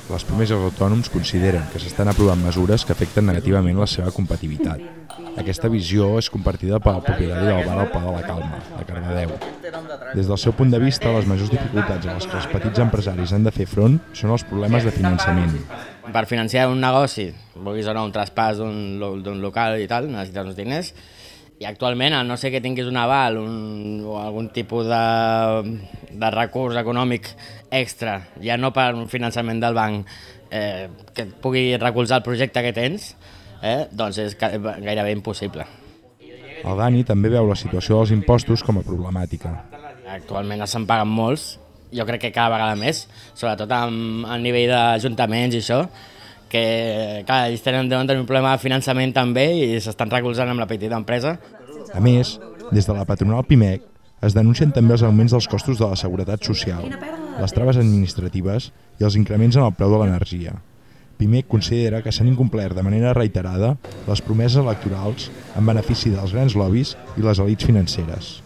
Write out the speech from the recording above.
Les pimes i els autònoms consideren que s'estan aprovant mesures que afecten negativament la seva competitivitat. Aquesta visió és compartida pel propietari del bar al Pla de la Calma, de Cardedeu. Des del seu punt de vista, les majors dificultats a les que els petits empresaris han de fer front són els problemes de finançament. Per financiar un negoci, vulguis o no un traspàs d'un local i tal, necessites uns diners, i actualment, a no ser que tinguis un aval o algun tipus de recurs econòmic extra, ja no per un finançament del banc que et pugui recolzar el projecte que tens, doncs és gairebé impossible. El Dani també veu la situació dels impostos com a problemàtica. Actualment se'n paguen molts, jo crec que cada vegada més, sobretot a nivell d'ajuntaments i això, que clar, ells deuen tenir un problema de finançament també i s'estan recolzant amb la petita empresa. A més, des de la patronal PIMEC es denuncien també els augments dels costos de la seguretat social, les traves administratives i els increments en el preu de l'energia. PIMEC considera que s'han incomplert de manera reiterada les promeses electorals en benefici dels grans lobbies i les elits financeres.